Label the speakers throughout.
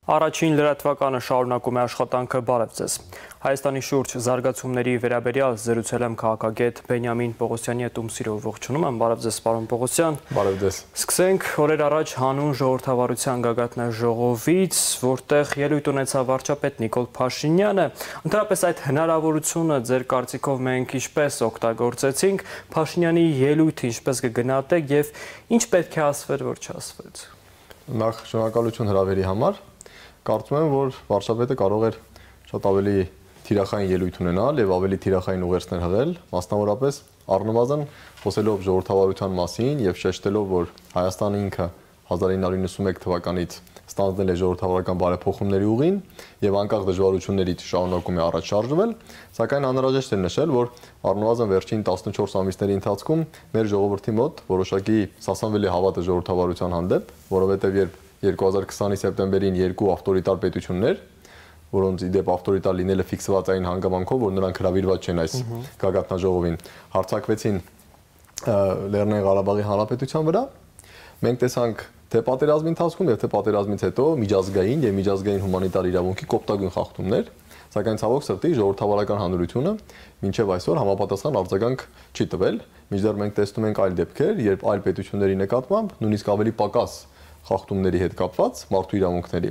Speaker 1: Առաջին լրատվականը շարունակում է աշխատանքը, բարև ձեզ։ Հայաստանի շուրջ զարգացումների վերաբերյալ զրուցել եմ քաղաքագետ Բենյամին Պողոսյանի հետ, ում սիրով ողջունում եմ, բարև ձեզ պարոն Պողոսյան։
Speaker 2: Բարև ձեզ։
Speaker 1: Սկսենք օրեր առաջ հանուն ժողովրդավարության գագաթնաժողովից, որտեղ ելույթ ունեցավ վարչապետ Նիկոլ Փաշինյանը։ Ընդհանրապես այդ հնարավորությունը ձեր կարծիքով մենք ինչպես օգտագործեցինք, Փաշինյանի ելույթը ինչպես կգնահատեք եւ ինչ պետք է ասվեր, որ չասվեց։
Speaker 2: Նախ շնորհակալություն հրավերի համար։ Կարծում եմ, որ վարչապետը կարող էր շատ ավելի թիրախային ելույթ ունենալ եւ ավելի թիրախային ուղերձներ հղել, մասնավորապես առնվազն խոսելով ժողովրդավարության մասին եւ շեշտելով, որ Հայաստանը ինքը 1991 թվականից ստանձնել է ժողովրդավարական բարեփոխումների ուղին եւ անկախ դժվարություններից շարունակում է առաջ շարժվել, սակայն անհրաժեշտ է նշել, որ առնվազն վերջին 14 ամիսների ընթացքում մեր ժողովրդի մոտ որոշակի սասանվել է հավատը ժողովրդավարության հանդեպ, որովհետեւ երբ 2020-ի սեպտեմբերին երկու ավտորիտար պետություններ, որոնց իդեպ ավտորիտար լինելը ֆիքսված այն հանգամանքով, որ նրանք հրավիրված չեն այս գագաթնաժողովին, հարձակվեցին Լեռնային Ղարաբաղի Հանրապետության վրա, մենք տեսանք թե պատերազմի ընթացքում եւ թե պատերազմից հետո միջազգային եւ միջազգային հումանիտար իրավունքի կոպտագույն խախտումներ, սակայն ցավոք սրտի ժողովրդավարական հանրությունը մինչեւ այսօր համապատասխան արձագանք չի տվել, մինչդեռ մենք տեսնում ենք այլ դեպքեր, երբ այլ պետությունների նկատմամբ նույնիսկ ավելի պակաս խախտումների հետ կապված մարդու իրավունքների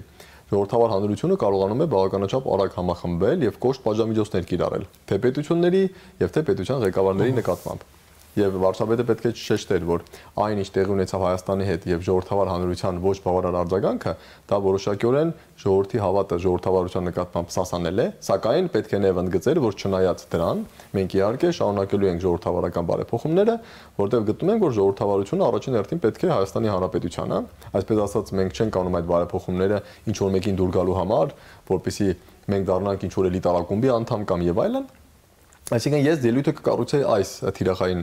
Speaker 2: ժողովրդավար հանրությունը կարողանում է բավականաչափ արագ համախմբել եւ կոշտ պատժամիջոցներ կիրառել թե պետությունների եւ թե պետության ղեկավարների նկատմամբ եւ վարչապետը պետք է շեշտեր, որ այն ինչ տեղի ունեցավ Հայաստանի հետ եւ ժողովրդավար հանրության ոչ բավարար արձագանքը, դա որոշակիորեն ժողովրդի հավատը ժողովրդավարության նկատմամբ սասանել է, սակայն պետք է նաեւ ընդգծել, որ չնայած դրան, մենք իհարկե շարունակելու ենք ժողովրդավարական բարեփոխումները, որտեղ գտնում ենք, որ ժողովրդավարությունը առաջին հերթին պետք է Հայաստանի Հանրապետությանը, այսպես ասած, մենք չենք անում այդ բարեփոխումները ինչ որ մեկին դուր գալու համար, որպեսզի մենք դառնանք ինչ որ էլիտար ակումբի անդամ կամ եւ այլն։ Այսինքն ես ելույթը կկառուցեի այս թիրախային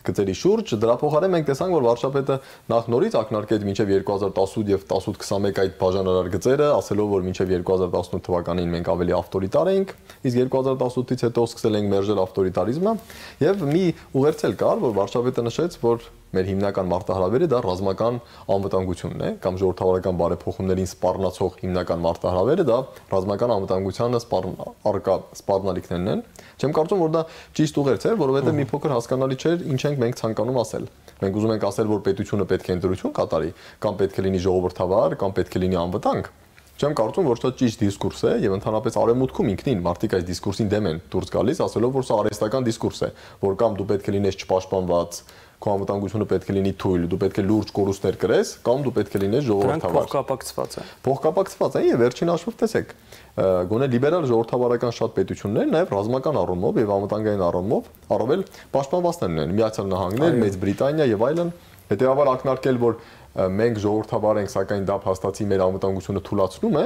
Speaker 2: գծերի շուրջ, դրա փոխարեն մենք տեսանք, որ վարչապետը նախ նորից ակնարկեց մինչև 2018 եւ 18-21 այդ բաժանարար գծերը, ասելով, որ մինչև 2018 թվականին մենք ավելի ավտորիտար էինք, իսկ 2018-ից հետո սկսել ենք մերժել ավտորիտարիզմը, եւ մի ուղերձել կար, որ վարչապետը նշեց, որ մեր հիմնական մարտահրավերը դա ռազմական անվտանգությունն է, կամ ժողովրդավարական բարեփոխումներին սպառնացող հիմնական մարտահրավերը դա ռազմական անվտանգությանը առկա սպառնալիքներն են։ Չեմ կարծում, որ դա ճիշտ ուղերձ է, որովհետեւ մի փոքր հասկանալի չէր ինչ ենք մենք ցանկանում ասել։ Մենք ուզում ենք ասել, որ պետությունը պետք է ընտրություն կատարի, կամ պետք է լինի ժողովրդավար, կամ պետք է լինի անվտանգ։ Չեմ կարծում, որ դա ճիշտ դիսկուրս է, եւ ընդհանրապես արևմուտքում ինքնին մարդիկ այս դիսկուրսին դեմ են դուրս գալիս, ասելով, որ սա արհեստական դիսկուրս է, որ կամ դու պետք է լինես չպաշտպանված, քո անվտանգությունը պետք է լինի թույլ, դու պետք է լուրջ կորուստներ կրես, կամ դու պետք է լինես ժողովրդավար։
Speaker 1: Փոխկապակցված է։
Speaker 2: Փոխկապակցված է, եւ վերջին հաշվով տեսեք, գոնե լիբերալ ժողովրդավարական շատ պետություններ նաեւ ռազմական առումով եւ անվտանգային առումով առավել պաշտպանվածներ ունեն, Միացյալ Նահանգներ, Մեծ Բրիտանիա եւ այլն, հետեւաբար ակնարկել, որ մենք ժողովրդավար ենք, սակայն դա փաստացի մեր անվտանգությունը թուլացնում է,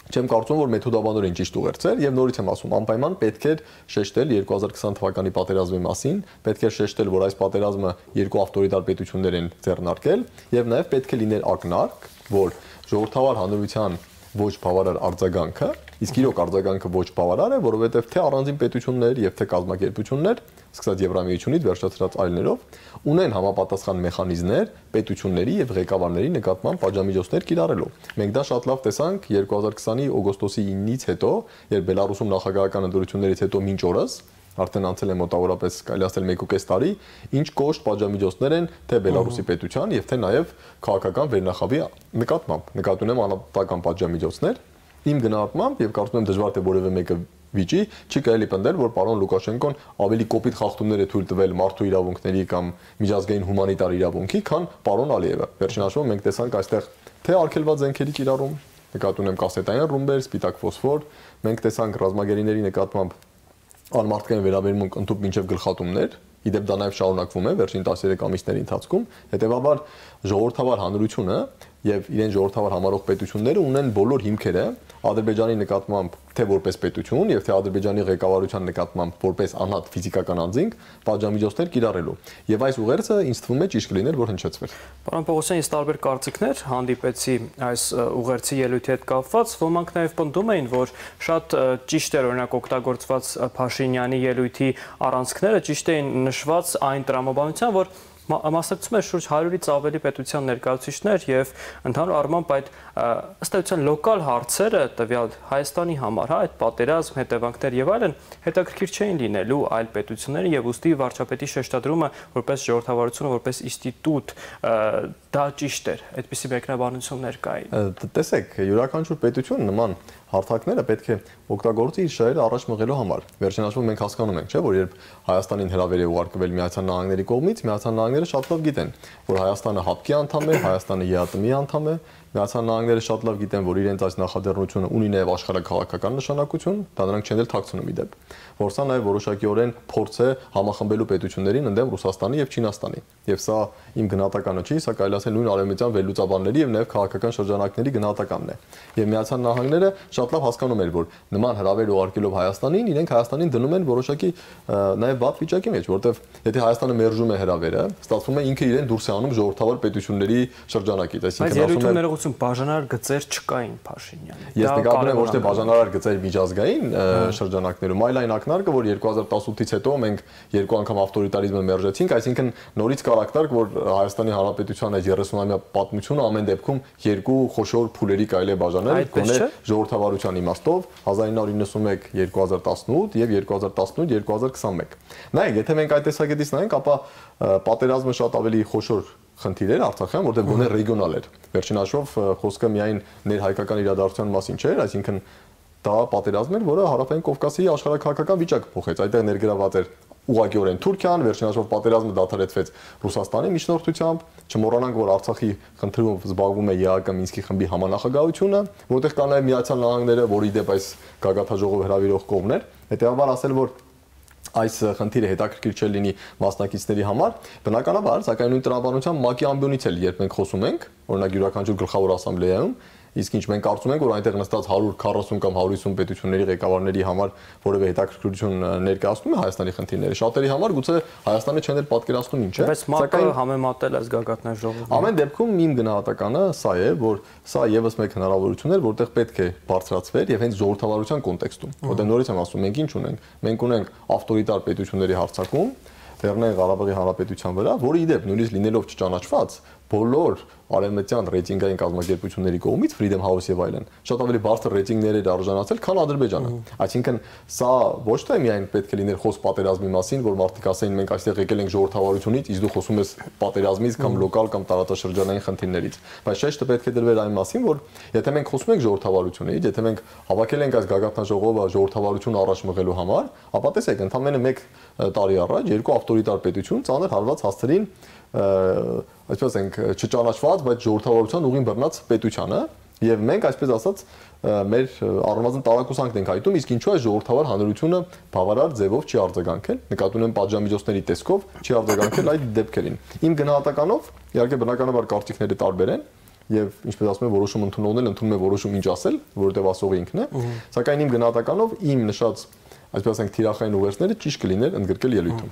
Speaker 2: չեմ կարծում, որ մեթոդաբանորեն ճիշտ ուղերձ էր, եւ նորից եմ ասում, անպայման պետք է շեշտել 2020 թվականի պատերազմի մասին, պետք է շեշտել, որ այս պատերազմը երկու ավտորիտար պետություններ են ձեռնարկել, եւ նաեւ պետք է լիներ ակնարկ, որ ժողովրդավար հանրության ոչ բավարար արձագանքը, իսկ իրոք արձագանքը ոչ բավարար է, որովհետև թե առանձին պետություններ եւ թե կազմակերպություններ, սկսած Եվրամիությունից վերջացրած այլներով, ունեն համապատասխան մեխանիզմներ պետությունների եւ ղեկավարների նկատմամբ պատժամիջոցներ կիրառելու։ Մենք դա շատ լավ տեսանք 2020-ի օգոստոսի 9-ից հետո, երբ Բելարուսում նախագահական ընտրություններից հետո մինչ օրս արդեն անցել է մոտավորապես կարելի ասել 1.5 տարի, ինչ կոշտ պատժամիջոցներ են թե Բելարուսի պետության եւ թե նաեւ քաղաքական վերնախավի նկատմամբ։ Նկատի ունեմ անապատական պատժամիջոցներ։ Իմ գնահատմամբ եւ կարծում եմ դժվար թե որևէ մեկը վիճի չի կարելի պնդել, որ պարոն Լուկաշենկոն ավելի կոպիտ խախտումներ է թույլ տվել մարդու իրավունքների կամ միջազգային հումանիտար իրավունքի, քան պարոն Ալիևը։ Վերջին հաշվով մենք տեսանք այստեղ թե արգելված զենքերի կիրառում, նկատի ունեմ կասետային ռումբեր, սպիտակ ֆոսֆոր, մենք տեսանք ռազմագերիների նկատմամբ անմարդկային վերաբերմունք ընդཐུպ մինչև գլխատումներ, իդեպ դա նաև շարունակվում է վերջին 13 ամիսների ընթացքում, հետևաբար ժողովրդավար հանրությունը եւ իրեն ժողովրդավար համարող պետությունները ունեն բոլոր հիմքերը Ադրբեջանի նկատմամբ թե որպես պետություն եւ թե Ադրբեջանի ղեկավարության նկատմամբ որպես անհատ ֆիզիկական անձինք պատժամիջոցներ կիրառելու։ Եվ այս ուղերձը ինձ թվում է ճիշտ կլիներ, որ հնչեցվեր։
Speaker 1: Պարոն Պողոսյան, ես տարբեր կարծիքներ հանդիպեցի այս ուղերձի ելույթի հետ կապված, ոմանք նաև պնդում էին, որ շատ ճիշտ էր օրինակ օգտագործված Փաշինյանի ելույթի առանցքները, ճիշտ էին նշված այն տրամաբանության, որ Մասնակցում է շուրջ 100-ից ավելի պետության ներկայացուցիչներ եւ ընդհանուր առմամբ այդ ըստ էության լոկալ հարցերը տվյալ Հայաստանի համար, հա, այդ պատերազմ, հետևանքներ եւ այլն հետաքրքիր չէին լինելու այլ պետություններին եւ ուստի վարչապետի շեշտադրումը որպես ժողովրդավարություն, որպես ինստիտուտ դա ճիշտ էր, այդպիսի մեկնաբանություններ կային։
Speaker 2: Տեսեք, յուրաքանչյուր պետություն նման հարթակները պետք է օգտագործի իր շահերը առաջ մղելու համար։ Վերջին հաշվով մենք հասկանում ենք, չէ՞, որ երբ Հայաստանին հրավեր է ուղարկվել Միացյալ Նահանգների կողմից, Միացյալ Նահանգները շատ լավ գիտեն, որ Հայաստանը ՀԱՊԿ-ի անդամ է, Հայաստանը ԵԱՏՄ-ի անդամ է, Միացյալ Նահանգները շատ լավ գիտեն, որ իրենց այս նախաձեռնությունը ունի նաև աշխարհաքաղաքական նշանակություն, դա նրանք չեն էլ թաքցնում իդեպ, որ սա նաև որոշակիորեն փորձ է համախմբելու պետություններին ընդդեմ Ռուսաստանի եւ Չինաստանի։ Եվ սա իմ գնահատականը չի, սա կարելի ասել նույն արևմտյան վերլուծաբանների եւ նաև քաղաքական շրջանակների գնահատականն է։ Եվ Միացյալ Նահանգները շատ լավ հասկանում էր, որ նման հրավեր ուղարկելով Հայաստանին, իրենք Հայաստանին դնում են որոշակի նաև վատ վիճակի մեջ, որտեվ եթե Հայաստանը մերժում է հրավերը, ստացվում է ինքը իրեն դուրս է անում ժողովրդավար պետությունների շրջանակից,
Speaker 1: այսինքն ասում է բաժանարար գծեր չկային Փաշինյանի։
Speaker 2: Ես նկատում եմ ոչ թե բաժանարար գծեր միջազգային շրջանակներում, այլ այն ակնարկը, որ 2018-ից հետո մենք երկու անգամ ավտորիտարիզմը մերժեցինք, այսինքն նորից կար ակնարկ, որ Հայաստանի Հանրապետության այս 30-ամյա պատմությունը ամեն դեպքում երկու խոշոր փուլերի կարելի է բաժանել, գոնե ժողովրդավարության իմաստով 1991-2018 եւ 2018-2021։ Նայեք, եթե մենք այդ տեսակետից նայենք, ապա պատերազմը շատ ավելի խոշոր խնդիր էր Արցախյան, որտեղ գոնե ռեգիոնալ էր։ Վերջին հաշվով խոսքը միայն ներհայկական իրադարձության մասին չէր, այսինքն դա պատերազմ էր, որը Հարավային Կովկասի աշխարհաքաղաքական վիճակը փոխեց։ Այդտեղ ներգրաված էր ուղղակիորեն Թուրքիան, վերջին հաշվով պատերազմը դադարեցվեց Ռուսաստանի միջնորդությամբ, չմոռանանք, որ Արցախի խնդրով զբաղվում է ԵԱՀԿ Մինսկի խմբի համանախագահությունը, որտեղ կա նաև Միացյալ Նահանգները, որի դեպ այս գագաթաժողով հրավիրող կողմն էր։ Հետևաբար ասել, որ այս խնդիրը հետաքրքիր չէ լինի մասնակիցների համար, բնականաբար, սակայն նույն տրամաբանությամբ ՄԱԿ-ի ամբիոնից էլ երբ մենք խոսում ենք, օրինակ յուրաքանչյուր գլխավոր ասամբլեայում, իսկ ինչ մենք կարծում ենք, որ այնտեղ նստած 140 կամ 150 պետությունների ղեկավարների համար որևէ հետաքրքրություն ներկայացնում է Հայաստանի խնդիրները, շատերի համար գուցե Հայաստանը չեն էլ պատկերացնում ինչ է,
Speaker 1: սակայն համեմատել այս գագաթնաժողովին։
Speaker 2: Ամեն դեպքում իմ գնահատականը սա է, որ սա եւս մեկ հնարավորություն էր, որտեղ պետք է բարձրացվեր եւ հենց ժողովրդավարության կոնտեքստում, որտեղ նորից եմ ասում, մենք ինչ ունենք, մենք ունենք ավտորիտար պետությունների հարձակում Լեռնային Ղարաբաղի Հանրապետության վրա, որը իդեպ նույնիսկ լինելով չճանաչված բոլոր արևմտյան ռեյտինգային կազմակերպությունների կողմից Freedom House եւ այլն շատ ավելի բարձր ռեյտինգներ էր արժանացել, քան Ադրբեջանը։ Այսինքն սա ոչ թե միայն պետք է լիներ խոսք պատերազմի մասին, որ մարդիկ ասեին մենք այստեղ եկել ենք ժողովրդավարությունից, իսկ դու խոսում ես պատերազմից կամ լոկալ կամ տարածաշրջանային խնդիրներից, բայց շեշտը պետք է դրվեր այն մասին, որ եթե մենք խոսում ենք ժողովրդավարությունից, եթե մենք հավաքել ենք այս գագաթնաժողովը ժողովրդավարությունը առաջ մղելու համար, ապա տեսեք, ընդամենը 1 տարի առաջ երկու ավտորիտար պետություն ծանր հարված հասցրին այսպես ասենք չճանաչված, բայց ժողովրդավարության ուղին բռնած պետությանը եւ մենք այսպես ասած մեր առնվազն տարակուսանքն ենք հայտում, իսկ ինչու է ժողովրդավար հանրությունը բավարար ձևով չի արձագանքել, նկատի ունեմ պատժամիջոցների տեսքով չի արձագանքել այդ դեպքերին։ Իմ գնահատականով իհարկե բնականաբար կարծիքները տարբեր են եւ ինչպես ասում են որոշում ընդունողներն ընդունում են որոշում ինչ ասել, որովհետեւ ասողը ինքն է, սակայն իմ գնահատականով իմ նշած այսպես ասենք թիրախային ուղերձները ճիշտ կլիներ ընդգրկել ելույթում։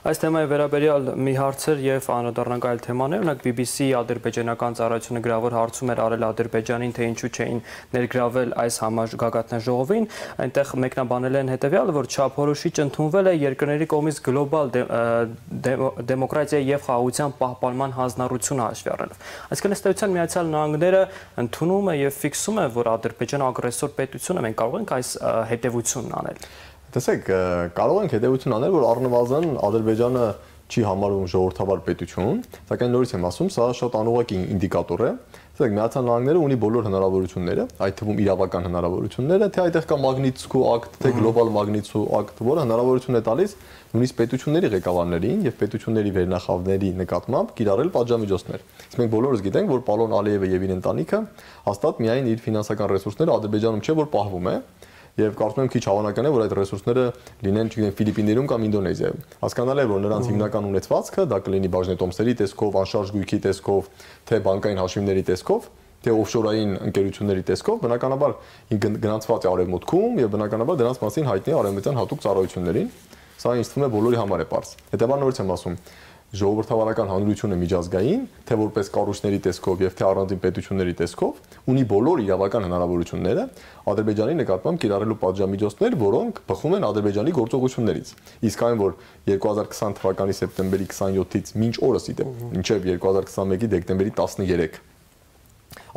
Speaker 1: Այս թեմայի վերաբերյալ մի հարցեր եւ անդրադառնանք այլ թեմաներ, օրինակ BBC ադրբեջանական ծառայությունը գրավոր հարցում էր արել Ադրբեջանին, թե ինչու չէին ներգրավել այս գագաթնաժողովին, այնտեղ մեկնաբանել են հետեւյալը, որ չափորոշիչ ընդունվել է երկրների կողմից գլոբալ դեմոկրատիայի եւ խաղաղության պահպանման հանձնառությունը հաշվի առնելով։ Այսինքն ըստ էության Միացյալ Նահանգները ընդունում է եւ ֆիքսում է, որ Ադրբեջանը ագրեսոր պետություն է, մենք կարող ենք այս հետեւությունն անել։
Speaker 2: Տեսեք, կարող ենք հետևություն անել, որ առնվազն Ադրբեջանը չի համարվում ժողովրդավար պետություն, սակայն նորից եմ ասում, սա շատ անուղղակի ինդիկատոր է։ Տեսեք, Միացյալ Նահանգները ունի բոլոր հնարավորությունները, այդ թվում իրավական հնարավորությունները, թե այդտեղ կա Մագնիտսկու ակտ, թե գլոբալ Մագնիտսկու ակտ, որը հնարավորություն է տալիս նույնիսկ պետությունների ղեկավարներին եւ պետությունների վերնախավների նկատմամբ կիրառել պատժամիջոցներ։ Իսկ մենք բոլորս գիտենք, որ Պալոն Ալիևը եւ իր ընտանիքը հաստատ միայն իր ֆինանսական ռեսուրսները Ադրբեջանում չէ, որ պահվում է։ Եվ կարծում եմ քիչ հավանական է, որ այդ ռեսուրսները լինեն, չգիտեմ, Ֆիլիպիններում կամ Ինդոնեզիայում։ Հասկանալ է, որ նրանց հիմնական ունեցվածքը դա կլինի բաժնետոմսերի տեսքով, անշարժ գույքի տեսքով, թե բանկային հաշիվների տեսքով, թե օֆշորային ընկերությունների տեսքով, բնականաբար գնացված է արևմուտքում եւ բնականաբար դրանց մասին հայտնի է արևմտյան հատուկ ծառայություններին։ Սա ինձ թվում է բոլորի համար է պարզ։ Հետևաբար նորից եմ ասում, ժողովրդավարական հանրությունը միջազգային, թե որպես կառույցների տեսքով եւ թե առանձին պետությունների տեսքով ունի բոլոր իրավական հնարավորությունները Ադրբեջանի նկատմամբ կիրառելու պատժամիջոցներ, որոնք բխում են Ադրբեջանի գործողություններից։ Իսկ այն, որ 2020 թվականի սեպտեմբերի 27-ից մինչ օրս մինչև 2021-ի դեկտեմբերի 13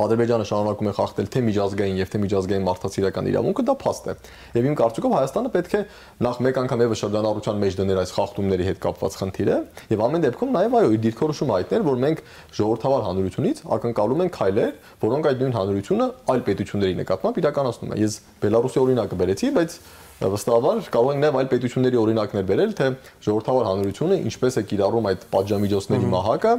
Speaker 2: Ադրբեջանը շարունակում է խախտել թե միջազգային եւ թե միջազգային մարդասիրական իրավունքը, դա փաստ է։ Եվ իմ կարծիքով Հայաստանը պետք է նախ մեկ անգամ եւս շրջանառության մեջ դներ այս խախտումների հետ կապված խնդիրը եւ ամեն դեպքում նաեւ այո իր դիրքորոշումը հայտնել, որ մենք ժողովրդավար հանրությունից ակնկալում ենք քայլեր, որոնք այդ նույն հանրությունը այլ պետությունների նկատմամբ իրականացնում է։ Ես Բելարուսի օրինակը բերեցի, բայց վստահաբար կարող ենք նաեւ այլ պետությունների օրինակներ բերել, թե ժողովրդավար հանրությունը ինչպես է կիրառում այդ պատժամիջոցների մահակը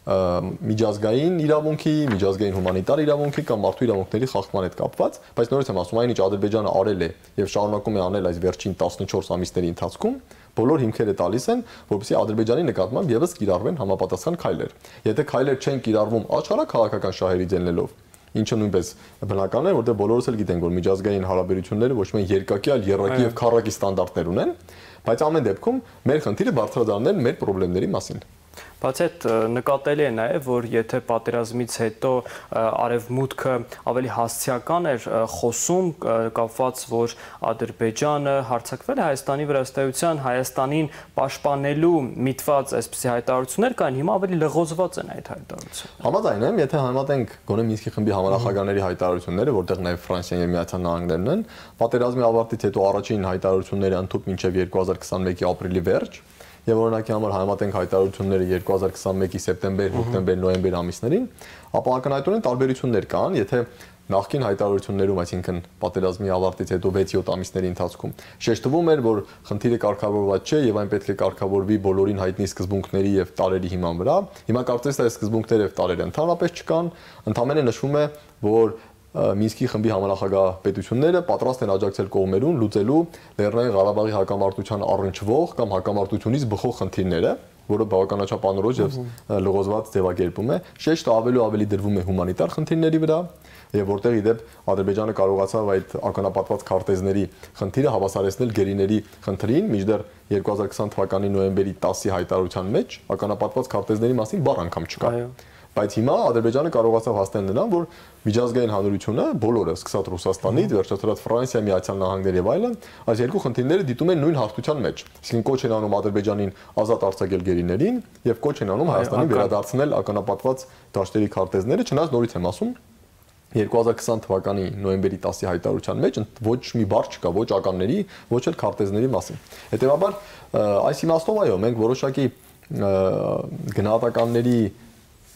Speaker 2: միջազգային իրավունքի, միջազգային հումանիտար իրավունքի կամ մարդու իրավունքների խախտման հետ կապված, բայց նորից եմ ասում, այնինչ Ադրբեջանը արել է եւ շարունակում է անել այս վերջին 14 ամիսների ընթացքում, բոլոր հիմքերը տալիս են, որպեսզի Ադրբեջանի նկատմամբ եւս կիրառվեն համապատասխան քայլեր։ Եթե քայլեր չեն կիրառվում աշխարհակ քաղաքական շահերի ձեռնելով, ինչը նույնպես բնական է, որտեղ բոլորս էլ գիտենք, որ միջազգային հարաբերությունները ոչ միայն երկակի, այլ եռակի եւ քառակի ստանդարտներ ունեն, բայց ամեն դեպքում մեր խնդիրը բարձրաձայնել մեր խնդիրների մասին։
Speaker 1: Բացի այդ նկատելի է նաև, որ եթե պատերազմից հետո արևմուտքը ավելի հասցեական էր խոսում կապված, որ Ադրբեջանը հարձակվել է Հայաստանի վրա, ըստեյության Հայաստանին պաշտպանելու միտված այսպիսի հայտարարություններ կային, հիմա ավելի լղոզված են այդ հայտարարությունները։
Speaker 2: Համաձայն եմ, եթե համատենք գոնե Մինսկի խմբի համանախագահների հայտարարությունները, որտեղ նաև Ֆրանսիան եւ Միացյալ Նահանգներն են, պատերազմի ավարտից հետո առաջին հայտարարությունները ընդཐུպ մինչև 2021-ի ապրիլի վերջ եւ օրինակի համար համատենք հայտարարությունները 2021-ի սեպտեմբեր, հոկտեմբեր, նոյեմբեր ամիսներին, ապա ակնհայտորեն տարբերություններ կան, եթե նախկին հայտարարություններում, այսինքն պատերազմի ավարտից հետո 6-7 ամիսների ընթացքում շեշտվում էր, որ խնդիրը կարգավորված չէ եւ այն պետք է կարգավորվի բոլորին հայտնի սկզբունքների եւ տարերի հիման վրա։ Հիմա կարծես թե այս սկզբունքները եւ տարերը ընդհանրապես չկան, ընդհանրապես նշվում է, որ Մինսկի խմբի համանախագահ պետությունները պատրաստ են աջակցել կողմերուն լուծելու Լեռնային Ղարաբաղի հակամարտության առնչվող կամ հակամարտությունից բխող խնդիրները, որը բավականաչափ անորոշ եւ լղոզված ձևակերպում է, շեշտը ավելի դրվում է հումանիտար խնդիրների վրա, եւ որտեղ իդեպ Ադրբեջանը կարողացավ այդ ականապատված քարտեզների խնդիրը հավասարեցնել գերիների խնդրին, մինչդեռ 2020 թվականի նոյեմբերի 10-ի հայտարարության մեջ ականապատված քարտեզների մասին բառ անգամ չկա։ Բայց հիմա Ադրբեջանը կարողացավ հասնել նրան, որ միջազգային հանրությունը բոլորը, սկսած Ռուսաստանից, վերջացրած Ֆրանսիա, Միացյալ Նահանգներ եւ այլն, այս երկու խնդիրները դիտում են նույն հաղթության մեջ։ Իսկին կոչ են անում Ադրբեջանին ազատ արձակել գերիներին եւ կոչ են անում Հայաստանին վերադարձնել ականապատված դաշտերի քարտեզները, չնայած նորից եմ ասում 2020 թվականի նոյեմբերի 10-ի հայտարարության մեջ ոչ մի բառ չկա ոչ ականների, ոչ էլ քարտեզների մասին։ Հետևաբար այս իմաստով այո, մենք որոշակի գնահատականների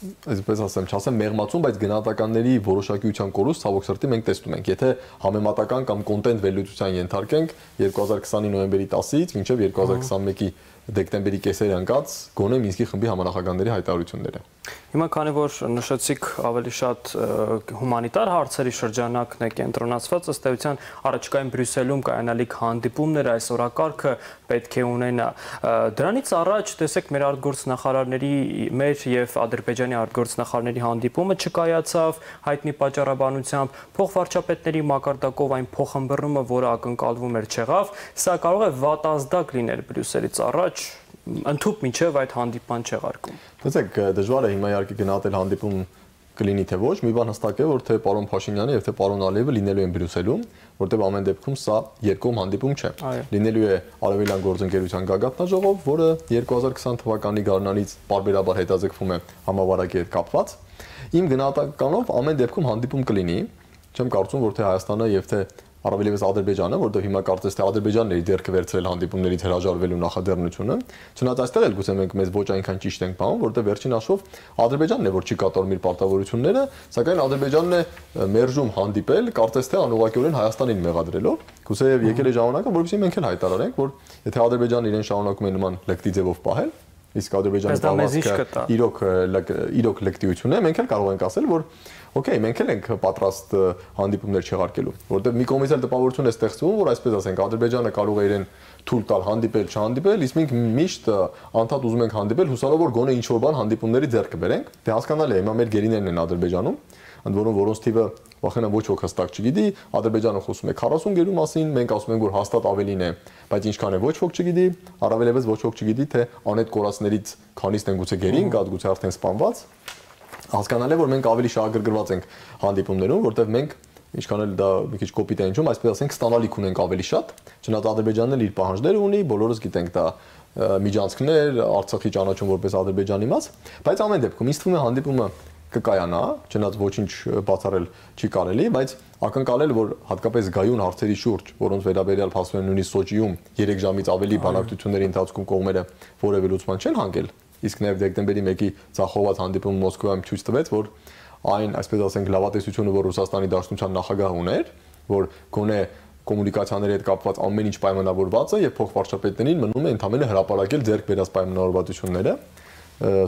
Speaker 2: այսպես ասեմ, չասեմ մեղմացում, բայց գնահատականների որոշակիության կորուստ ցավոք սրտի մենք տեսնում ենք, եթե համեմատական կամ կոնտենտ վերլուծության ենթարկենք 2020-ի նոյեմբերի 10-ից մինչև 2021-ի դեկտեմբերի կեսերը ընկած գոնե Մինսկի խմբի համանախագահների հայտարարությունները։
Speaker 1: Հիմա քանի որ նշեցիք ավելի շատ հումանիտար հարցերի շրջանակն է կենտրոնացված, ըստ էության առաջիկայում Բրյուսելում կայանալիք հանդիպումները այս օրակարգը պետք է ունենա։ Դրանից առաջ տեսեք մեր արտգործնախարարների մեր եւ Ադրբեջանի արտգործնախարարների հանդիպումը չկայացավ հայտնի պատճառաբանությամբ, փոխվարչապետների մակարդակով այն փոխհմբռնումը, որը ակնկալվում էր, չեղավ, սա կարող է վատազդակ լինել Բրյուսելից առաջ ընդཐུպ մինչև այդ հանդիպան չեղարկում։
Speaker 2: Տեսեք, դժվար է հիմա իհարկե գնահատել հանդիպում կլինի թե ոչ, մի բան հստակ է, որ թե պարոն Փաշինյանը եւ թե պարոն Ալիևը լինելու են Բրյուսելում, որտեղ ամեն դեպքում սա երկկողմ հանդիպում չէ։ Լինելու է Արևելյան գործընկերության գագաթնաժողով, որը 2020 թվականի գարնանից պարբերաբար հետաձգվում է համավարակի հետ կապված։ Իմ գնահատականով ամեն դեպքում հանդիպում կլինի, չեմ կարծում, որ թե Հայաստանը եւ թե առավելևս Ադրբեջանը, որտեղ հիմա կարծես թե Ադրբեջանն է դերքը վերցրել հանդիպումներից հրաժարվելու նախաձեռնությունը, չնայած այստեղ էլ գուցե մենք մեզ ոչ այնքան ճիշտ ենք բանում, որտեղ վերջին հաշվով Ադրբեջանն է, որ չի կատարում իր պարտավորությունները, սակայն Ադրբեջանն է մերժում հանդիպել, կարծես թե անուղղակիորեն Հայաստանին մեղադրելով, գուցե եւ եկել է ժամանակը, որովհետեւ մենք էլ հայտարարենք, որ եթե Ադրբեջանը իրեն շարունակում է նման լկտի ձևով պահել, իսկ Ադրբեջանի պարվածքը իրոք լկտիություն է, մենք էլ կարող ենք ասել, որ օքեյ, մենք էլ ենք պատրաստ հանդիպումներ չեղարկելու, որտեղ մի կողմից էլ տպավորություն է ստեղծվում, որ այսպես ասենք Ադրբեջանը կարող է իրեն թույլ տալ հանդիպել, չհանդիպել, իսկ մենք միշտ անդադ ուզում ենք հանդիպել, հուսալով որ գոնե ինչ-որ բան հանդիպումների ձեռք կբերենք։ Դե հասկանալի է, հիմա մեր գերիներն են Ադրբեջանում, ընդ որում որոնց թիվը վախենամ ոչ ոք հստակ չգիտի, Ադրբեջանը խոսում է 40 գերու մասին, մենք ասում ենք որ հաստատ ավելին է, բայց ինչքան է ոչ ոք չգիտի, առավելևս ոչ ոք չգիտի թե անետ կորածներից քանիսն են գուցե գերին, կա գուցե արդեն սպանված։ Հասկանալ է որ մենք ավելի շահագրգռված ենք հանդիպումներում, որտեղ մենք ինչքան էլ դա մի քիչ կոպիտ է ինչում, այսպես ասենք ստանալիք ունենք ավելի շատ, չնայած Ադրբեջանն էլ իր պահանջները ունի, բոլորս գիտենք դա միջանցքներ, Արցախի ճանաչում որպես Ադրբեջանի մաս, բայց ամեն դեպքում ինձ թվում է հանդիպումը կկայանա, չնայած ոչինչ բացառել չի կարելի, բայց ակնկալել որ հատկապես գայուն հարցերի շուրջ, որոնց վերաբերյալ փաստում են նույնիսկ Սոչիում 3 ժամից ավելի բանակցությունների ընթացքում կողմերը որևէ լուծման չեն հանգել, իսկ նաև դեկտեմբերի 1-ի ցախոված հանդիպումը Մոսկվայում ցույց տվեց, որ այն, այսպես ասենք, լավատեսությունը, որ Ռուսաստանի Դաշնության նախագահ ուներ, որ գոնե կոմունիկացիաների հետ կապված ամեն ինչ պայմանավորված է եւ փոխվարչապետներին մնում է ընդհանրապես հրապարակել ձեռք բերած պայմանավորվածությունները։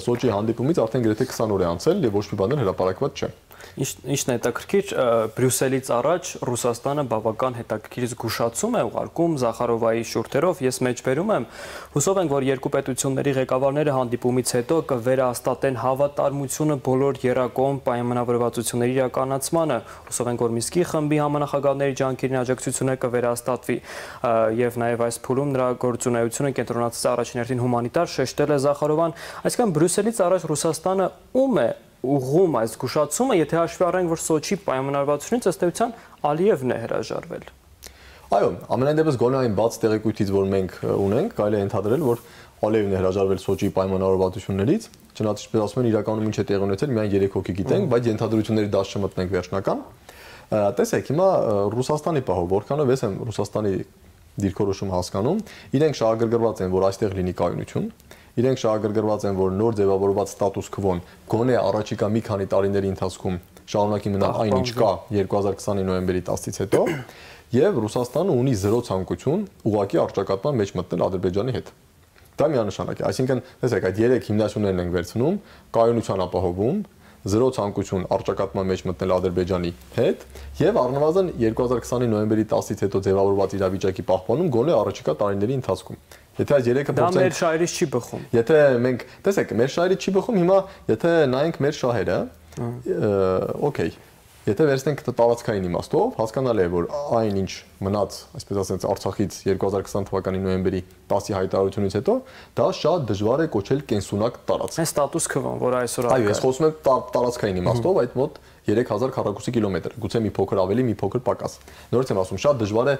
Speaker 2: Սոչի հանդիպումից արդեն գրեթե 20 օր է անցել եւ ոչ մի բան հրապարակված չէ։
Speaker 1: Ինչն է հետաքրքիր, Բրյուսելից առաջ Ռուսաստանը բավական հետաքրքիր զգուշացում է ուղարկում Զախարովայի շուրթերով, ես մեջբերում եմ, հուսով ենք, որ երկու պետությունների ղեկավարները հանդիպումից հետո կվերահաստատեն հավատարմությունը բոլոր եռակողմ պայմանավորվածությունների իրականացմանը, հուսով ենք, որ Մինսկի խմբի համանախագահների ջանքերին աջակցությունը կվերահաստատվի եւ նաեւ այս փուլում նրա գործունեությունը կենտրոնացած առաջին հերթին հումանիտար շեշտել է Զախարովան, այսինքն Բրյուսելից առաջ Ռուսաստանը ում է ուղղում այս զգուշացումը, եթե հաշվի առնենք, որ Սոչի պայմանավորվածությունից ըստ էության Ալիևն է հրաժարվել։
Speaker 2: Այո, ամենայն դեպս գոնե այն բաց տեղեկույթից, որ մենք ունենք, կարելի է ընդհանրել, որ Ալիևն է հրաժարվել Սոչի պայմանավորվածություններից, չնայած ինչպես ասում են, իրականում ինչ է տեղի ունեցել, միայն 3 հոգի գիտենք, բայց ենթադրությունների դաշտ չմտնենք վերջնական։ Տեսեք, հիմա Ռուսաստանի պահով, որքանով ես եմ Ռուսաստանի դիրքորոշում հասկանում, իրենք շահագրգռված են, որ այստեղ լինի կայունություն, իրենք շահագրգռված են, որ նոր ձևավորված ստատուս քվոն գոնե առաջիկա մի քանի տարիների ընթացքում շարունակի մնալ այն ինչ կա 2020-ի նոյեմբերի 10-ից հետո, եւ Ռուսաստանը ունի զրո ցանկություն ուղղակի առճակատման մեջ մտնել Ադրբեջանի հետ։ Դա միանշանակ է, այսինքն, տեսեք, այդ 3 հիմնասյուներն ենք վերցնում, կայունության ապահովում, զրո ցանկություն առճակատման մեջ մտնել Ադրբեջանի հետ եւ առնվազն 2020-ի նոյեմբերի 10-ից հետո ձևավորված իրավիճակի պահպանում գոնե առաջիկա տարիների ընթացքում։ Եթե այս 3-ը
Speaker 1: դա մեր շահերից չի բխում։
Speaker 2: Եթե մենք, տեսեք, մեր շահերից չի բխում, հիմա եթե նայենք մեր շահերը, օքեյ, եթե վերցնենք տարածքային իմաստով, հասկանալի է, որ այն ինչ մնաց, այսպես ասած, Արցախից 2020 թվականի նոյեմբերի 10-ի հայտարարությունից հետո, դա շատ դժվար է կոչել կենսունակ տարածք։
Speaker 1: Այս ստատուս քվոն, որ այսօր
Speaker 2: այո, ես խոսում եմ տարածքային իմաստով, այդ մոտ 3000 քառակուսի կիլոմետր, գուցե մի փոքր ավելի, մի փոքր պակաս։ Նորից եմ ասում, շատ դժվար է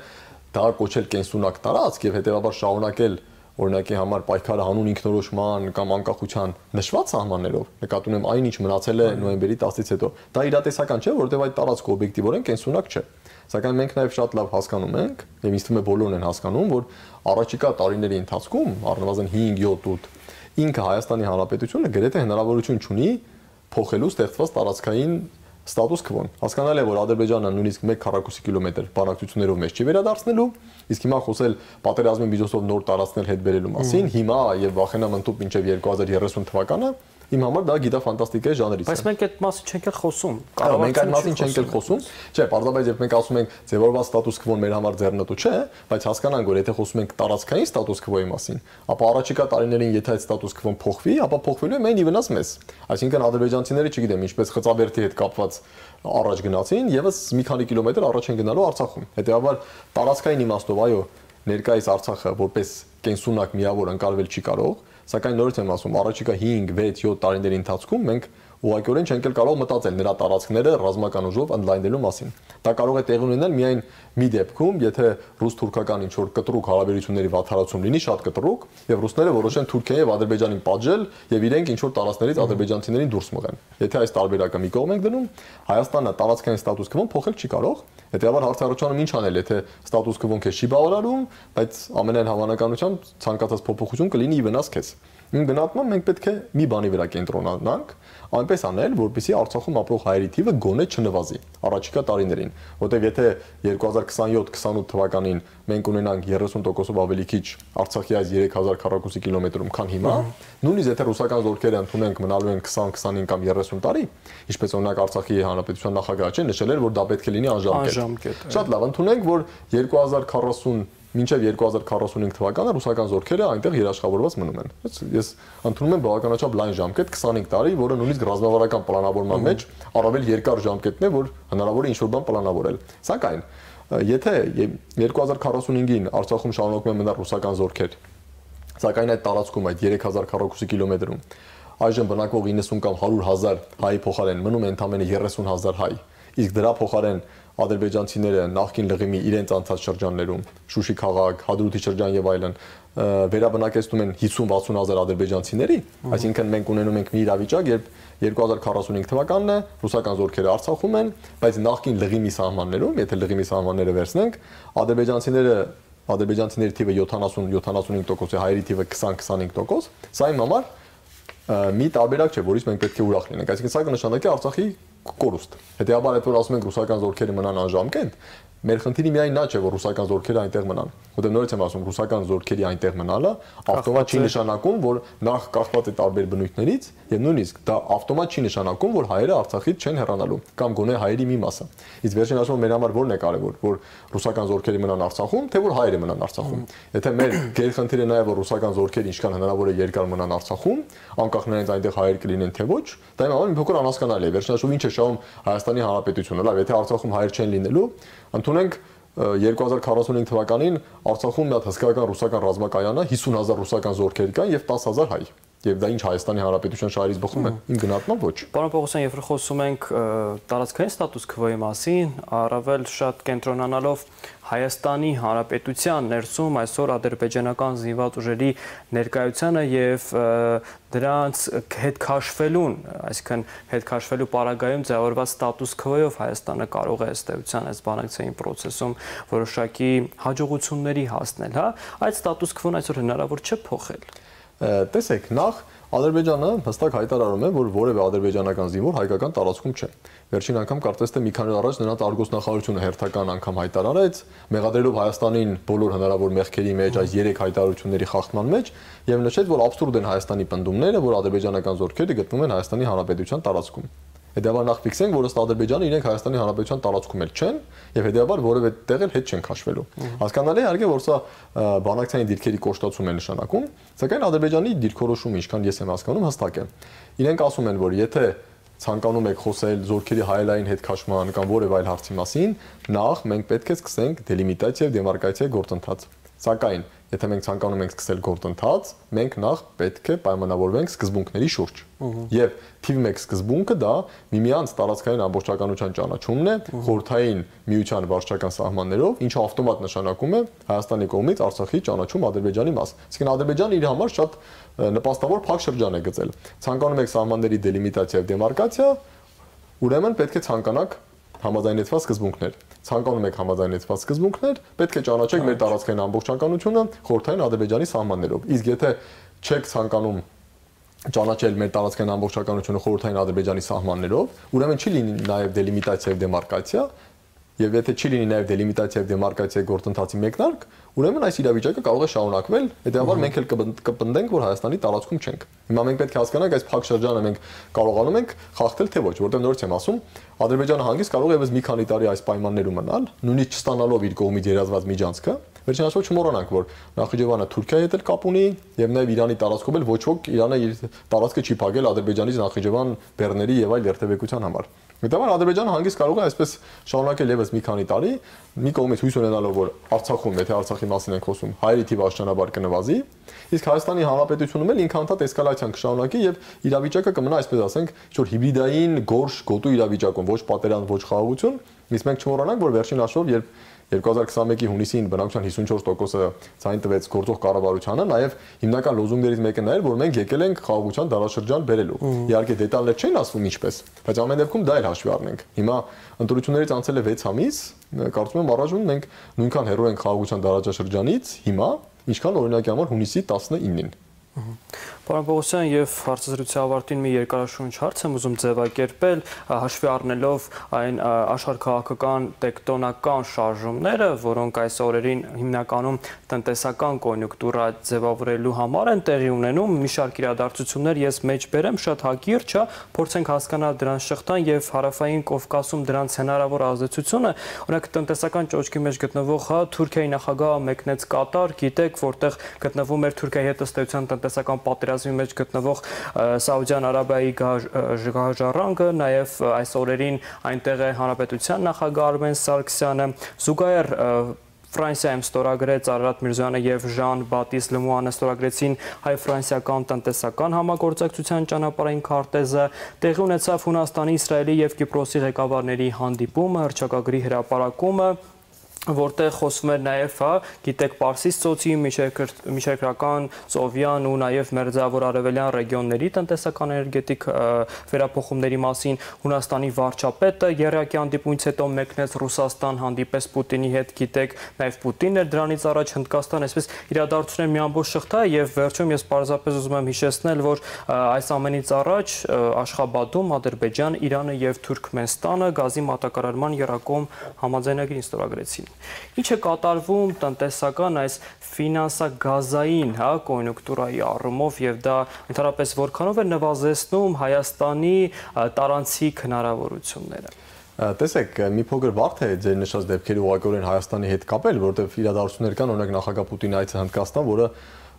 Speaker 2: դա կոչել կենսունակ տարածք եւ հետեւաբար շարունակել օրինակի համար պայքարը հանուն ինքնորոշման կամ անկախության նշված սահմաններով, նկատի ունեմ այն ինչ մնացել է նոյեմբերի 10-ից հետո, դա իրատեսական չէ, որովհետև այդ տարածքը օբյեկտիվորեն կենսունակ չէ։ Սակայն մենք նաև շատ լավ հասկանում ենք, եւ ինձ թվում է բոլորն են հասկանում, որ առաջիկա տարիների ընթացքում, առնվազն 5-7 ինքը Հայաստանի Հանրապետությունը գրեթե հնարավորություն չունի փոխելու ստեղծված տարածքային ստատուս քվոն։ Հասկանալի է, որ Ադրբեջանը նույնիսկ 1 քառակուսի կիլոմետր բանակցություններով մեզ չի վերադարձնելու, իսկ հիմա խոսել պատերազմի միջոցով նոր տարածքներ հետ բերելու մասին, հիմա եւ վախենամ ընդཐུպ մինչեւ 2030 թվականը իմ համար դա գիտաֆանտաստիկայի ժանրից է։
Speaker 1: Բայց մենք այդ մասին չենք էլ խոսում։
Speaker 2: Կարող մենք այդ մասին չենք էլ խոսում։ Չէ, պարզապես երբ մենք ասում ենք ձևավորված ստատուս քվոն մեր համար ձեռնտու չէ, բայց հասկանանք, որ եթե խոսում ենք տարածքային ստատուս քվոյի մասին, ապա առաջիկա տարիներին եթե այդ ստատուս քվոն փոխվի, ապա փոխվելու է մեն ի վնաս մեզ։ Այսինքն ադրբեջանցիները, չգիտեմ, ինչպես Խծաբերդի հետ կապված առաջ գնացին, եւս մի քանի կիլոմետր առաջ են գնալու Արցախում։ Հետեւաբար տարածքային իմաստով, այո, ներկայիս Արցախը որպես կենսունակ միավոր ընկալվել չի կարող, սակայն նորից եմ ասում, առաջիկա 5, 6, 7 տարիների ընթացքում մենք ուղղակիորեն չենք կարող մտածել նրա տարածքները ռազմական ուժով ընդլայնելու մասին։ Դա կարող է տեղի ունենալ միայն մի դեպքում, եթե ռուս-թուրքական ինչ-որ կտրուկ հարաբերությունների վատթարացում լինի, շատ կտրուկ, եւ ռուսները որոշեն Թուրքիայի եւ Ադրբեջանին պատժել եւ իրենք ինչ-որ տարածքներից ադրբեջանցիներին դուրս մղեն։ Եթե այս տարբերակը մի կողմ ենք դնում, Հայաստանը տարածքային ստատուս քվոն փոխել չի կարող։ Հետեւաբար հարցարարությունում ինչ անել, եթե ստատուս քվոն քեզ չի բավարարում, բայց ամենայն հավանականությամբ ցանկացած փոփոխություն կլինի ի վնաս քեզ։ Իմ գնահատմամբ մենք պետք է մի բանի վրա կենտրոնանանք, այնպես անել, որպեսզի Արցախում ապրող հայերի թիվը գոնե չնվազի առաջիկա տարիներին, որտեղ եթե 2027-28 թվականին մենք ունենանք 30%-ով ավելի քիչ Արցախի այս 3000 քառակուսի կիլոմետրում, քան հիմա, նույնիսկ եթե ռուսական զորքերը ընդունենք մնալու են 20-25 կամ 30 տարի, ինչպես օրինակ Արցախի հանրապետության նախագահը նշել էր, որ դա պետք է լինի անժամկետ։ Շատ լավ, ընդունենք, որ 2040 մինչև 2045 թվականը ռուսական զորքերը այնտեղ երաշխավորված մնում են։ Ես ընդունում եմ բավականաչափ լայն ժամկետ 25 տարի, որը նույնիսկ ռազմավարական պլանավորման մեջ առավել երկար ժամկետն է, որ հնարավոր է ինչ-որ բան պլանավորել։ Սակայն եթե 2045-ին Արցախում շարունակում են մնալ ռուսական զորքեր, սակայն այդ տարածքում այդ 3000 քառակուսի կիլոմետրում այժմ բնակվող 90 կամ 100,000 հայի փոխարեն մնում է ընդամենը 30,000 հայ, իսկ դրա փոխարեն ադրբեջանցիները նախկին լղիմի իրենց անցած շրջաններում, Շուշի քաղաք, Հադրութի շրջան եւ այլն, վերաբնակեցնում են 50-60,000 ադրբեջանցիների, այսինքն մենք ունենում ենք մի իրավիճակ, երբ 2045 թվականն է, ռուսական զորքերը Արցախում են, բայց նախկին լղիմի սահմաններում, եթե լղիմի սահմանները վերցնենք, ադրբեջանցիների թիվը 70-75% է, հայերի թիվը 20-25%, սա իմ համար մի տարբերակ չէ, որից մենք պետք է ուրախ լինենք, այսինքն սա կնշանակի Արցախի կորուստ։ Հետեւաբար այդ որ ասում ենք ռուսական զորքերը մնան անժամկետ, մեր խնդիրը միայն նա չէ, որ ռուսական զորքերը այնտեղ մնան։ Որտեղ նորից եմ ասում, ռուսական զորքերի այնտեղ մնալը ավտոմատ չի նշանակում, որ նախ կախված է տարբեր բնույթներից, եւ նույնիսկ դա ավտոմատ չի նշանակում, որ հայերը Արցախից չեն հեռանալու, կամ գոնե հայերի մի մասը։ Իսկ վերջին ասում մեր համար ո՞րն է կարևոր, որ ռուսական զորքերը մնան Արցախում, թե որ հայերը մնան Արցախում։ Եթե մեր գերխնդիրը նա է, որ ռուսական զորքերը ինչքան հնարավոր է երկար մնան Արցախում, անկախ նրանից այնտեղ հայեր կլինեն թե ոչ, դա իմ համար մի փոքր անհասկանալի է։ Վերջին ասում ինչ է շահում Հայաստանի Հանրապետությունը, լավ, եթե Արցախում հայեր չեն լինելու, ընդունենք 2045 թվականին Արցախում մի հատ հսկայական ռուսական ռազմակայանը 50,000 ռուսական զորքեր կան եւ 10,000 հայ։ Եվ դա ինչ Հայաստանի Հանրապետության շահերից բխում է։ Իմ գնահատմամբ ոչ։
Speaker 1: Պարոն Պողոսյան, երբ խոսում ենք տարածքային ստատուս քվոյի մասին, առավել շատ կենտրոնանալով Հայաստանի Հանրապետության ներսում այսօր ադրբեջանական զինված ուժերի ներկայությանը եւ դրանց հետ քաշվելուն, այսինքն հետ քաշվելու պարագայում ձևավորված ստատուս քվոյով Հայաստանը կարող է ըստ էության այս բանակցային process-ում որոշակի հաջողությունների հասնել, հա, այդ ստատուս քվոն այսօր հնարավոր չէ փոխել։
Speaker 2: Տեսեք, նախ Ադրբեջանը հստակ հայտարարում է, որ որևէ ադրբեջանական զինվոր հայկական տարածքում չէ։ Վերջին անգամ կարծես թե մի քանի օր առաջ նրանց արգոսնախարարությունը հերթական անգամ հայտարարեց, մեղադրելով Հայաստանին բոլոր հնարավոր մեղքերի մեջ, այս 3 հայտարարությունների խախտման մեջ, եւ նշեց, որ աբսուրդ են Հայաստանի պնդումները, որ ադրբեջանական զորքերը գտնվում են Հայաստանի Հանրապետության տարածքում։ Հետևաբար նախ ֆիքսենք, որ ըստ Ադրբեջանը իրենք Հայաստանի Հանրապետության տարածքում էլ չեն, եւ հետևաբար որևէ տեղ էլ հետ չեն քաշվելու։ Հասկանալի է, իհարկե, որ սա բանակցային դիրքերի կոշտացում է նշանակում, սակայն Ադրբեջանի դիրքորոշումը, ինչքան ես եմ հասկանում, հստակ է։ Իրենք ասում են, որ եթե ցանկանում եք խոսել զորքերի հայելային հետ քաշման կամ որևէ այլ հարցի մասին, նախ մենք պետք է սկսենք դելիմիտացիա եւ դեմարկացիա գործընթաց։ Սակայն, եթե մենք ցանկանում ենք սկսել գործընթաց, մենք նախ պետք է պայմանավորվենք սկզբունքների շուրջ։ Եվ թիվ 1 սկզբունքը դա միմյանց տարածքային ամբողջականության ճանաչումն է խորհրդային միության վարչական սահմաններով, ինչը ավտոմատ նշանակում է Հայաստանի կողմից Արցախի ճանաչում Ադրբեջանի մաս։ Այսինքն Ադրբեջանը իր համար շատ նպաստավոր փակ շրջան է գծել։ Ցանկանում եք սահմանների դելիմիտացիա եւ դեմարկացիա, ուրեմն պետք է ցանկանաք համաձայնեցված սկզբունքներ։ Ցանկանում եք համաձայնեցված սկզբունքներ, պետք է ճանաչեք մեր տարածքային ամբողջականությունը խորհրդային Ադրբեջանի սահմաններով։ Իսկ եթե չեք ցանկանում ճանաչել մեր տարածքային ամբողջականությունը խորհրդային Ադրբեջանի սահմաններով, ուրեմն չի լինի նաև դելիմիտացիա եւ դեմարկացիա, եւ եթե չի լինի նաև դելիմիտացիա եւ դեմարկացիա գործընթացի մեկնարկ, ուրեմն այս իրավիճակը կարող է շարունակվել, հետեւաբար մենք էլ կպնդենք, որ Հայաստանի տարածքում չենք։ Հիմա մենք պետք է հասկանանք այս փակ շրջանը մենք կարողանում ենք խախտել թե ոչ, որտեղ նորից եմ ասում, Ադրբեջանը հանգիստ կարող է եւս մի քանի տարի այս պայմաններում մնալ, նույնիսկ չստանալով իր կողմից երազված միջանցքը։ Վերջին ասած չմոռանանք, որ Նախիջևանը Թուրքիայի հետ էլ կապ ունի եւ նաեւ Իրանի տարածքով էլ ոչ ոք Իրանը իր տարածքը չի փակել Ադրբեջանից Նախիջևան բեռների եւ այլ երթևեկության համար։ Հետևաբար Ադրբեջանը հանգիստ կարող է այսպես շարունակել եւս մի քանի տարի, մի կողմից հույս ունենալով, որ Արցախում, եթե Արցախի մասին ենք խոսում, հայերի թիվը աստիճանաբար կնվազի, իսկ Հայաստանի Հանրապետությունում էլ ինքան հանդարտ էսկալացիան կշարունակի եւ իրավիճակը կմնա, այսպես ասենք, ինչ-որ հիբրիդային գորշ գոտու իրավիճակում, ոչ պատերազմ, ոչ խաղաղություն, իսկ մենք չմոռանանք, որ վերջին հաշվով, երբ 2021-ի հունիսին բնակության 54%-ը ցայն տվեց գործող կառավարությանը, նաև հիմնական լոզունգներից մեկը նա էր, որ մենք եկել ենք խաղաղության դարաշրջան բերելու։ Իհարկե դետալներ չեն ասվում ինչպես, բայց ամեն դեպքում դա էլ հաշվի առնենք։ Հիմա ընտրություններից անցել է 6 ամիս, կարծում եմ առայժմ մենք նույնքան հեռու ենք խաղաղության դարաշրջանից հիմա, ինչքան օրինակի համար հունիսի 19-ին։
Speaker 1: Պարոն Պողոսյան, եւ հարցազրույցի ավարտին մի երկարաշունչ հարց եմ ուզում ձևակերպել, հաշվի առնելով այն աշխարհաքաղաքական տեկտոնական շարժումները, որոնք այս օրերին հիմնականում տնտեսական կոնյունկտուրա ձևավորելու համար են տեղի ունենում, մի շարք իրադարձություններ ես մեջ բերեմ շատ հակիրճ, փորձենք հասկանալ դրանց շղթան եւ հարավային Կովկասում դրանց հնարավոր ազդեցությունը, օրինակ տնտեսական ճոճքի մեջ գտնվող Թուրքիայի նախագահը մեկնեց Կատար, գիտեք, որտեղ գտնվում էր Թուրքիայի հետ ըստ էության տնտեսական պատերազմի մեջ գտնվող Սաուդյան Արաբիայի գահաժառանգը, նաև այս օրերին այնտեղ է Հանրապետության նախագահ Արմեն Սարգսյանը, զուգահեռ Ֆրանսիայում ստորագրեց Արարատ Միրզոյանը եւ Ժան Բատիստ Լեմուանը ստորագրեցին հայ-ֆրանսիական տնտեսական համագործակցության ճանապարհային քարտեզը, տեղի ունեցավ Հունաստանի, Իսրայելի եւ Կիպրոսի ղեկավարների հանդիպումը, հռչակագրի հրապարակումը, որտեղ խոսվում էր նաև, գիտեք, Պարսից ծոցի, միջերկրական, Սովյան ու նաև մերձավոր արևելյան ռեգիոնների տնտեսական էներգետիկ վերափոխումների մասին, Հունաստանի վարչապետը եռյակի հանդիպումից հետո մեկնեց Ռուսաստան, հանդիպես Պուտինի հետ, գիտեք, նաև Պուտինն էր դրանից առաջ Հնդկաստան, այսպես իրադարձություններ մի ամբողջ շղթա է եւ վերջում ես պարզապես ուզում եմ հիշեցնել, որ այս ամենից առաջ Աշխաբադում Ադրբեջան, Իրանը եւ Թուրքմենստանը գազի մատակարարման եռակողմ համաձայնագրին ստորագրեցին։ Ինչ է կատարվում տնտեսական այս ֆինանսագազային կոնյունկտուրայի առումով եւ դա ընդհանրապես որքանով է նվազեցնում Հայաստանի տարանցիկ հնարավորությունները։
Speaker 2: Տեսեք, մի փոքր բարդ է ձեր նշած դեպքերը ուղղակիորեն Հայաստանի հետ կապել, որովհետեւ իրադարձություններ կան, օրինակ նախագահ Պուտինի այցը Հնդկաստան, որը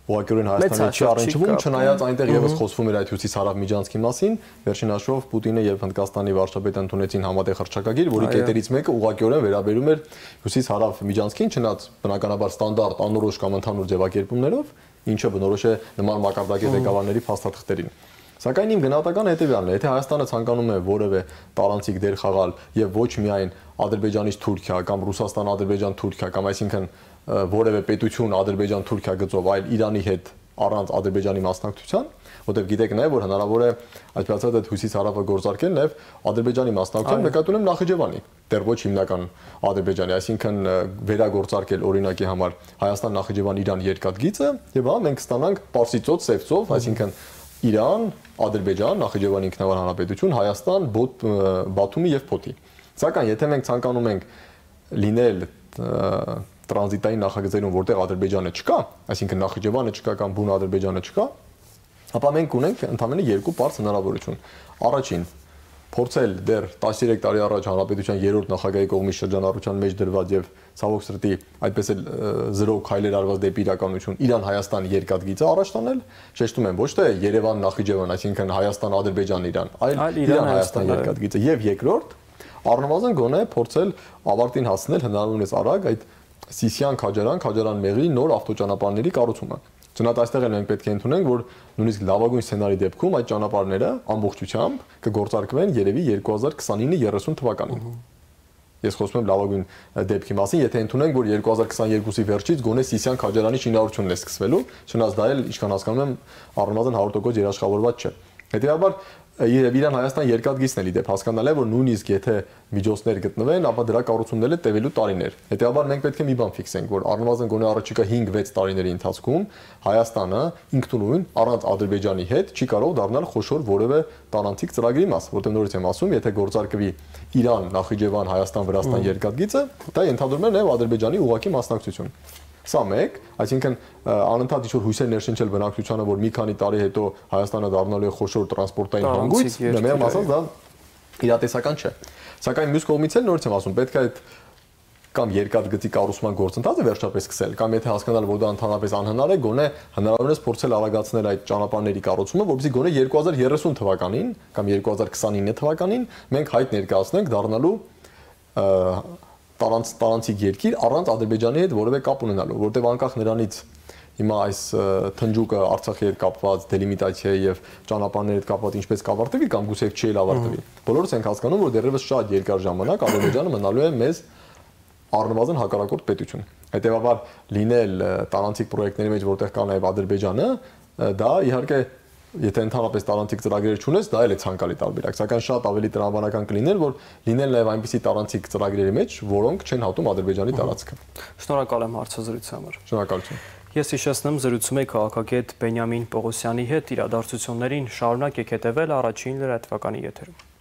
Speaker 2: ուղղակիորեն Հայաստանի չի առնչվում, չնայած այնտեղ եւս խոսվում էր այդ հյուսիս-հարավ միջանցքի մասին, վերջին հաշվով Պուտինը եւ Հնդկաստանի վարչապետը ընդունեցին համատեղ հռչակագիր, որի կետերից մեկը ուղղակիորեն վերաբերում էր հյուսիս-հարավ միջանցքին, չնայած բնականաբար ստանդարտ անորոշ կամ ընդհանուր ձևակերպումներով, ինչը բնորոշ է նման մակարդակի ղեկավարների փաստաթղթերին։ Սակայն իմ գնահատականը հետեւյալն է, եթե Հայաստանը ցանկանում է որևէ տարանցիկ դեր խաղալ եւ ոչ միայն Ադրբեջանից Թուրքիա կամ Ռուսաստան-Ադրբեջան-Թուրքիա կամ այսինքն որևէ պետություն Ադրբեջան-Թուրքիա գծով, այլ Իրանի հետ առանց Ադրբեջանի մասնակցության, որտեղ գիտեք նաև որ հնարավոր է այսպես ասած այդ հյուսիս-հարավը գործարկել նաև Ադրբեջանի մասնակցությամբ նկատի ունեմ Նախիջևանի, դեռ ոչ հիմնական Ադրբեջանի, այսինքն վերագործարկել օրինակի համար Հայաստան-Նախիջևան-Իրան երկաթգիծը եւ հա մենք ստանանք Պարսից ծոց, Սև ծով, այսինքն Իրան, Ադրբեջան, Նախիջևանի ինքնավար հանրապետություն, Հայաստան, Բաթումի եւ Փոթի։ Սակայն եթե մենք ցանկանում ենք լինել տրանզիտային նախագծերում, որտեղ Ադրբեջանը չկա, այսինքն Նախիջևանը չկա կամ բուն Ադրբեջանը չկա, ապա մենք ունենք ընդամենը երկու բարձ հնարավորություն։ Առաջին, փորձել դեռ 13 տարի առաջ հանրապետության 3-րդ նախագահի կողմից շրջանառության մեջ դրված եւ ցավոք սրտի այդպես էլ զրո քայլեր արված դեպի իրականություն Իրան-Հայաստան երկաթգիծը առաջ տանել, շեշտում եմ ոչ թե Երևան-Նախիջևան, այսինքն Հայաստան-Ադրբեջան-Իրան, այլ Իրան-Հայաստան երկաթգիծը եւ երկրորդ առնվազն գոնե փորձել ավարտին հասնել հնարավորինս արագ այդ Սիսիան-Քաջարան-Քաջարան-Մեղրի նոր ավտոճանապարհների կառուցումը։ Չնայած այստեղ էլ մենք պետք է ընդունենք, որ նույնիսկ լավագույն սցենարի դեպքում այդ ճանապարհները ամբողջությամբ կգործարկվեն երևի 2029-30 թվականին։ Ես խոսում եմ լավագույն դեպքի մասին, եթե ընդունենք, որ 2022-ի վերջից գոնե Սիսիան-Քաջարանի շինարարությունն է սկսվելու, չնայած դա էլ, ինչքան հասկանում եմ, առնվազն 100% երաշխավորված չէ։ Հետևաբար Իրան-Հայաստան երկաթգիծն էլ իդեպ հասկանալ է, որ նույնիսկ եթե միջոցներ գտնվեն, ապա դրա կառուցումները տևելու տարիներ։ Հետևաբար մենք պետք է մի բան ֆիքսենք, որ առնվազն գոնե առաջիկա 5-6 տարիների ընթացքում Հայաստանը ինքնուրույն առանց Ադրբեջանի հետ չի կարող դառնալ խոշոր որևէ տարանցիկ ծրագրի մաս, որտեղ նորից եմ ասում, եթե գործարկվի Իրան, Նախիջևան, Հայաստան, Վրաստան երկաթգիծը, դա ենթադրում է նաև Ադրբեջանի ուղղակի մասնակցություն։ Սա մեկ, այսինքն անընդհատ ինչ-որ հույսեր ներշնչել բնակչությանը, որ մի քանի տարի հետո Հայաստանը դառնալու է խոշոր տրանսպորտային հանգույց, մեղմ ասած դա իրատեսական չէ։ Սակայն մյուս կողմից էլ նորից եմ ասում, պետք է այդ կամ երկաթգծի կառուցման գործընթացը վերջապես սկսել, կամ եթե հասկանալ, որ դա ընդհանրապես անհնար է, գոնե հնարավորինս փորձել արագացնել այդ ճանապարհների կառուցումը, որպեսզի գոնե 2030 թվականին կամ 2029 թվականին մենք հայտ ներկայացնենք դառնալու տարանցիկ երկիր առանց Ադրբեջանի հետ որևէ կապ ունենալու, որտեղ անկախ նրանից հիմա այս թնջուկը Արցախի հետ կապված դելիմիտացիայի եւ ճանապարհների հետ կապված ինչպես կավարտվի կամ գուցե չի էլ ավարտվի։ Բոլորս ենք հասկանում, որ դեռևս շատ երկար ժամանակ Ադրբեջանը մնալու է մեզ առնվազն հակառակորդ պետություն։ Հետևաբար լինել տարանցիկ պրոյեկտների մեջ, որտեղ կա նաեւ Ադրբեջանը, դա իհարկե եթե ընդհանրապես տարանցիկ ծրագրեր չունես, դա էլ է ցանկալի տարբերակ, սակայն շատ ավելի տրամաբանական կլիներ, որ լինեն նաև այնպիսի տարանցիկ ծրագրերի մեջ, որոնք չեն հատում Ադրբեջանի տարածքը։
Speaker 1: Շնորհակալ եմ հարցազրույցի համար։
Speaker 2: Շնորհակալություն։
Speaker 1: Ես հիշեցնեմ, զրուցում էի քաղաքագետ Բենյամին Պողոսյանի հետ, իրադարձություններին շարունակեք հետևել Առաջին լրատվականի եթերում։